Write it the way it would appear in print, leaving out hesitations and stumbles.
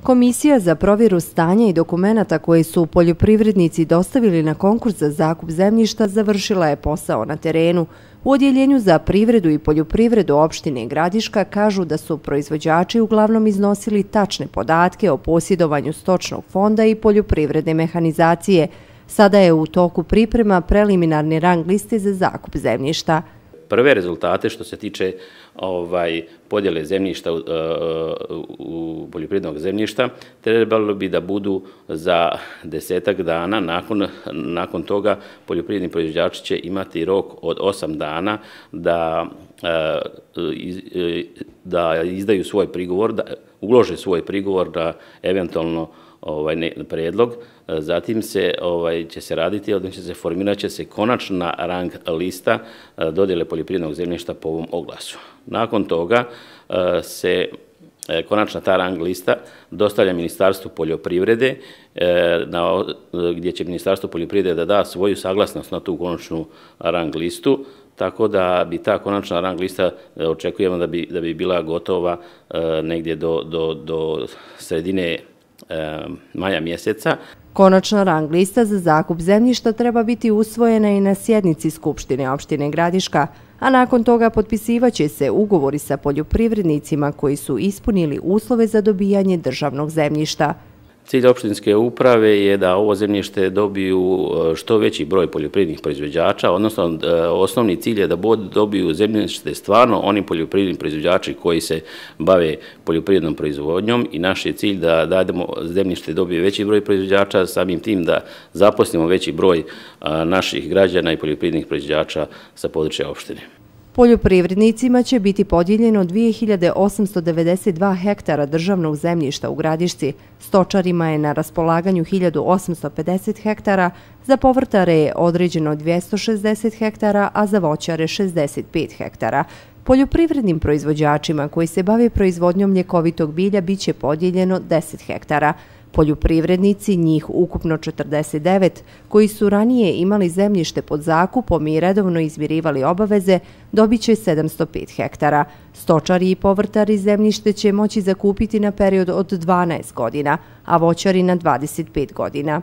Komisija za provjeru stanja i dokumenata koje su poljoprivrednici dostavili na konkurs za zakup zemljišta završila je posao na terenu. U Odjeljenju za privredu i poljoprivredu opštine Gradiška kažu da su proizvođači uglavnom iznosili tačne podatke o posjedovanju stočnog fonda i poljoprivredne mehanizacije. Sada je u toku priprema preliminarne rang liste za zakup zemljišta. Prve rezultate što se tiče podjele zemljišta u poljoprivrednog zemljišta trebalo bi da budu za 10-ak dana. Nakon toga poljoprivredni proizvođači će imati rok od 8 dana da izdaju svoj prigovor, da ulože svoj prigovor da eventualno predlog. Zatim će se raditi, odnosno formirat će se konačna rang lista dodjele poljoprivrednog zemljišta po ovom oglasu. Nakon toga se konačna ta rang lista dostavlja Ministarstvu poljoprivrede, gdje će Ministarstvo poljoprivrede da da svoju saglasnost na tu konačnu rang listu, tako da bi ta konačna rang lista, očekujemo da bi bila gotova negdje do sredine maja mjeseca. Konačna rang lista za zakup zemljišta treba biti usvojena i na sjednici Skupštine opštine Gradiška, a nakon toga potpisivaće se ugovori sa poljoprivrednicima koji su ispunili uslove za dobijanje državnog zemljišta. Cilj opštinske uprave je da ovo zemljište dobiju što veći broj poljoprivrednih proizvođača, odnosno osnovni cilj je da dobiju zemljište stvarno oni poljoprivredni proizvođači koji se bave poljoprivrednom proizvodnjom i naš je cilj da dademo zemljište dobije veći broj proizvođača, samim tim da zaposlimo veći broj naših građana i poljoprivrednih proizvođača sa područja opštine. Poljoprivrednicima će biti podijeljeno 2892 hektara državnog zemljišta u Gradišci, stočarima je na raspolaganju 1850 hektara, za povrtare je određeno 260 hektara, a za voćare 65 hektara. Poljoprivrednim proizvođačima koji se bave proizvodnjom ljekovitog bilja biće podijeljeno 10 hektara. Poljoprivrednici, njih ukupno 49, koji su ranije imali zemljište pod zakupom i redovno izmirivali obaveze, dobit će 705 hektara. Stočari i povrtari zemljište će moći zakupiti na period od 12 godina, a voćari na 25 godina.